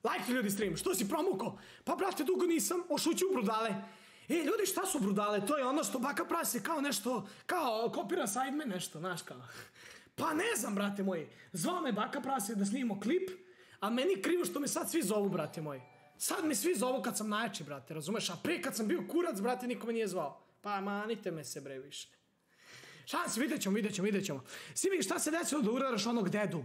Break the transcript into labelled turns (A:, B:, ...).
A: Lajkli ljudi stream, što si promukao? Pa brate, dugo nisam, ošuću brudale. Ljudi, šta su brudale? To je ono što baka prase kao nešto, kao kopira Sidemen nešto, znaš kao. Pa ne znam, brate moji. Zvao me baka prase da snimimo klip, a meni krivo što me sad svi zovu, brate moji. Sad me svi zovu kad sam najjači, brate, razumeš? A prije kad sam bio kurac, brate, niko me nije zvao. Pa manite me se, bre, više. Šansi, vidjet ćemo. Svi vidi šta se desilo da uraraš onog dedu.